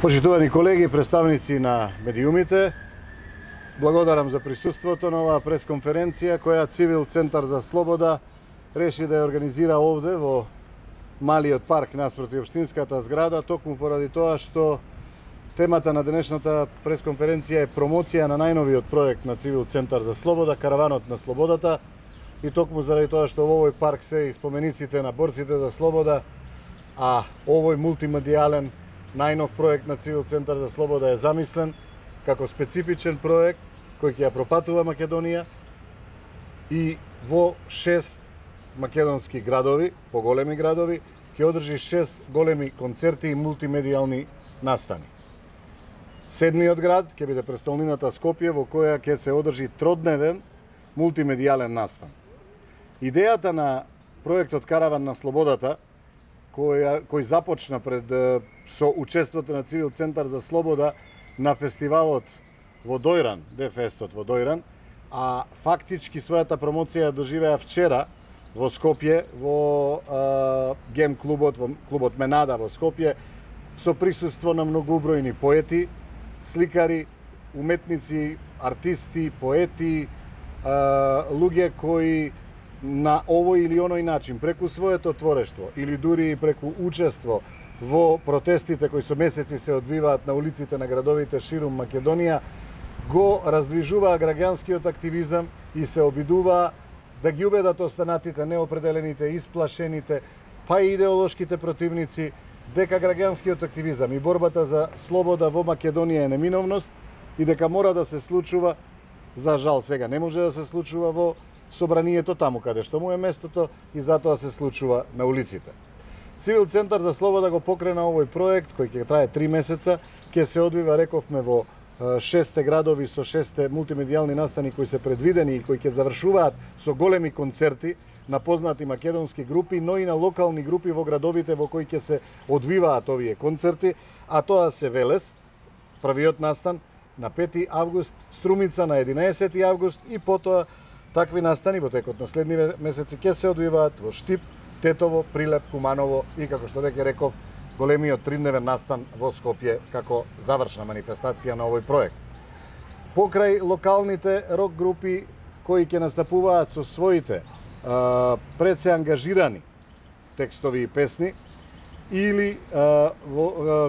Почитувани колеги, представници на медиумите, благодарам за присуството на оваа пресконференција која Цивил Центар за Слобода реши да ја организира овде во малиот парк наспроти општинската зграда, токму поради тоа што темата на денешната пресконференција е промоција на најновиот проект на Цивил Центар за Слобода, Караванот на Слободата, и токму заради тоа што во овој парк се и спомениците на борците за слобода, а овој мултимедијален најнов проект на Цивил Центар за Слобода е замислен како специфичен проект кој ќе ја пропатува Македонија и во 6 македонски градови, поголеми градови, ќе одржи 6 големи концерти и мултимедијални настани. Седмиот град ќе биде престолнината Скопје, во која ќе се одржи тродневен мултимедијален настан. Идејата на проектот Караван на Слободата, кој започна со учеството на Цивил Центар за Слобода на фестивалот во Дојран, Дефестот во Дојран, а фактички својата промоција доживеа вчера во Скопје, во гем клубот, во клубот Менада во Скопје, со присуство на многобројни поети, сликари, уметници, артисти, поети, луѓе кои на овој или оној начин, преку своето творештво или дури и преку учество во протестите кои со месеци се одвиваат на улиците на градовите ширум Македонија, го раздвижуваа граѓанскиот активизам и се обидуваа да ги убедат останатите, неопределените, исплашените, па и идеолошките противници, дека граѓанскиот активизам и борбата за слобода во Македонија е неминовност и дека мора да се случува, за жал сега не може да се случува во собранието таму каде што му е местото и затоа се случува на улиците. Цивил Центар за Слобода го покрена овој проект кој ќе трае 3 месеца, ќе се одвива, рековме, во 6 градови со 6 мултимедијални настани кои се предвидени и кои ќе завршуваат со големи концерти на познати македонски групи, но и на локални групи во градовите во кои ќе се одвиваат овие концерти, а тоа се Велес, првиот настан на 5 август, Струмица на 11 август и потоа такви настани во текот на следниве месеци ќе се одвиваат во Штип, Тетово, Прилеп, Куманово и, како што веќе реков, големиот 3-дневен настан во Скопје како завршна манифестација на овој проект. Покрај локалните рок групи кои ќе настапуваат со своите пред се ангажирани текстови и песни или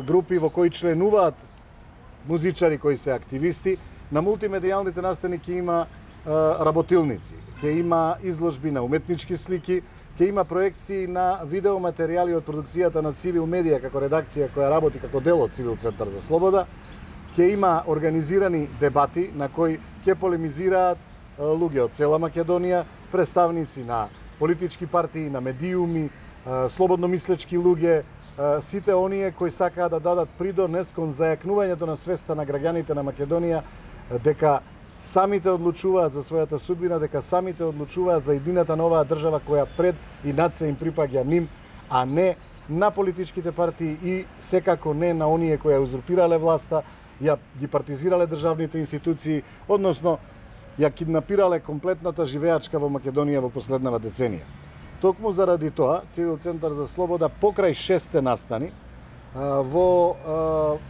групи во кои членуваат музичари кои се активисти, на мултимедијалните настани ќе има работилници, ќе има изложби на уметнички слики, ќе има проекции на видеоматеријали од продукцијата на Цивил Медија како редакција која работи како дел од Цивил Центар за Слобода, ќе има организирани дебати на кои ќе полемизираат луѓе од цела Македонија, представници на политички партии, на медиуми, слободно мислечки луѓе, сите оние кои сакаат да дадат придонес кон зајакнувањето на свеста на граѓаните на Македонија дека самите одлучуваат за својата судбина, дека самите одлучуваат за иднината на оваа држава која пред и над се им припаѓа ним, а не на политичките партии и секако не на оние кои ја узурпирале власта, ја ги партизирале државните институции, односно ја киднапирале комплетната живеачка во Македонија во последнава деценија. Токму заради тоа, Цивил Центар за Слобода покрај 6 настани, во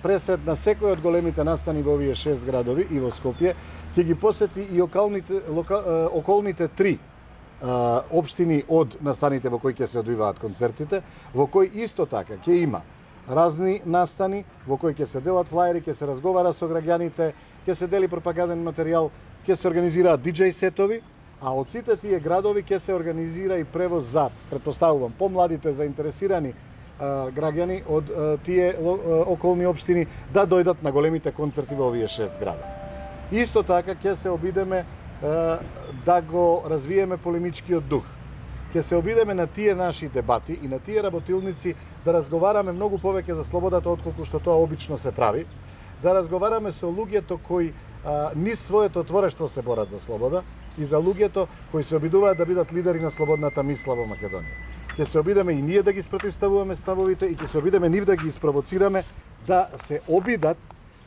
пресред на секој од големите настани во овие 6 градови и во Скопје, ќе ги посети и околните 3 општини од настаните во кои ќе се одвиваат концертите, во кои исто така ќе има разни настани, во кои ќе се делат флаери, ќе се разговара со граѓаните, ќе се дели пропаганден материјал, ќе се организираат диџеј сетови, а од сите тие градови ќе се организира и превоз за, претпоставувам, помладите заинтересирани граѓани од тие околни општини да дојдат на големите концерти во овие 6 града. Исто така ќе се обидеме да го развиеме полемичкиот дух. Ќе се обидеме на тие наши дебати и на тие работилници да разговараме многу повеќе за слободата отколку што тоа обично се прави, да разговараме со луѓето кои низ своето творештво се борат за слобода и за луѓето кои се обидуваат да бидат лидери на слободната мисла во Македонија. Ќе се обидеме и ние да ги спротивставуваме ставовите и ќе се обидеме нив да ги испровоцираме да се обидат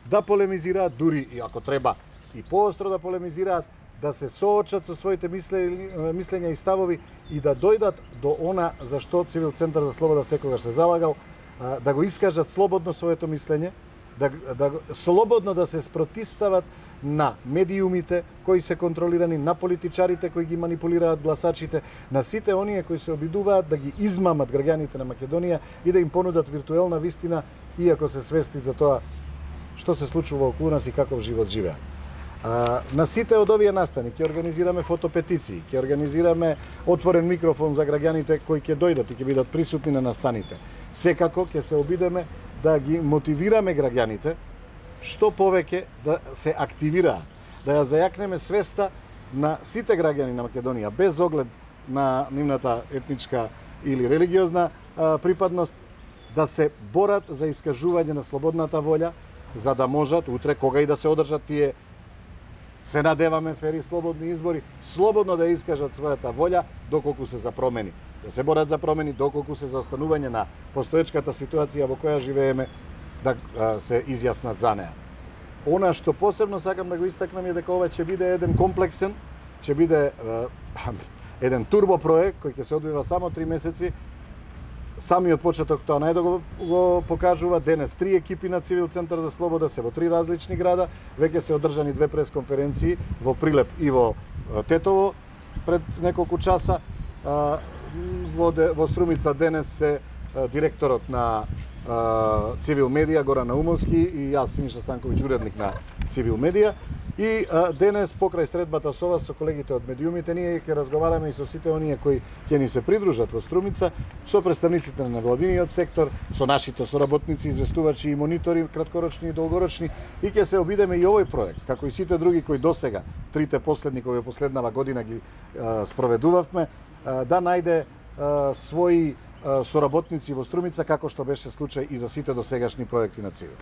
да полемизираат, дури и ако треба и поостро да полемизираат, да се соочат со своите мислења и ставови и да дојдат до она за што Цивил Центар за Слобода секогаш се залагал, да го искажат слободно своето мислење, да слободно да се спротистават на медиумите кои се контролирани, на политичарите кои ги манипулираат гласачите, на сите оние кои се обидуваат да ги измамат граѓаните на Македонија и да им понудат виртуелна вистина, иако се свести за тоа што се случува околу нас и каков живот живеат. На сите од овие настани ќе организираме фотопетиции, ќе организираме отворен микрофон за граѓаните кои ќе дојдат и ќе бидат присутни на настаните. Секако ќе се обидеме да ги мотивираме граѓаните што повеќе да се активираат, да ја зајакнеме свеста на сите граѓани на Македонија, без оглед на нивната етничка или религиозна припадност, да се борат за искажување на слободната волја, за да можат утре, кога и да се одржат тие, се надеваме, фери слободни избори, слободно да искажат својата волја доколку се за промени. Да се борат за промени доколку се за останување на постоечката ситуација во која живееме, да се изјаснат за неа. Она што посебно сакам да го истакнам е дека ова ќе биде еден комплексен, ќе биде еден турбо проект кој ќе се одвива само 3 месеци. Самиот почеток тоа најдо го покажува. Денес 3 екипи на Цивил Центар за слобода се во 3 различни града. Веќе се одржани 2 пресконференции во Прилеп и во Тетово пред неколку часа. Во Струмица денес се директорот на Цивил Медија Горан Наумовски и јас Синиша Станковиќ, уредник на Цивил Медија. И денес покрај средбата со вас, со колегите од медиумите, ние ќе разговараме и со сите оние кои ќе ни се придружат во Струмица, со представниците на невладиниот сектор, со нашите соработници, известувачи и монитори, краткорочни и долгорочни, и ќе се обидеме и овој проект, како и сите други кои досега, трите последни кои во последнава година ги спроведувавме, да најде своји соработници во Струмица, како што беше случај и за сите досегашни проекти на Цивил.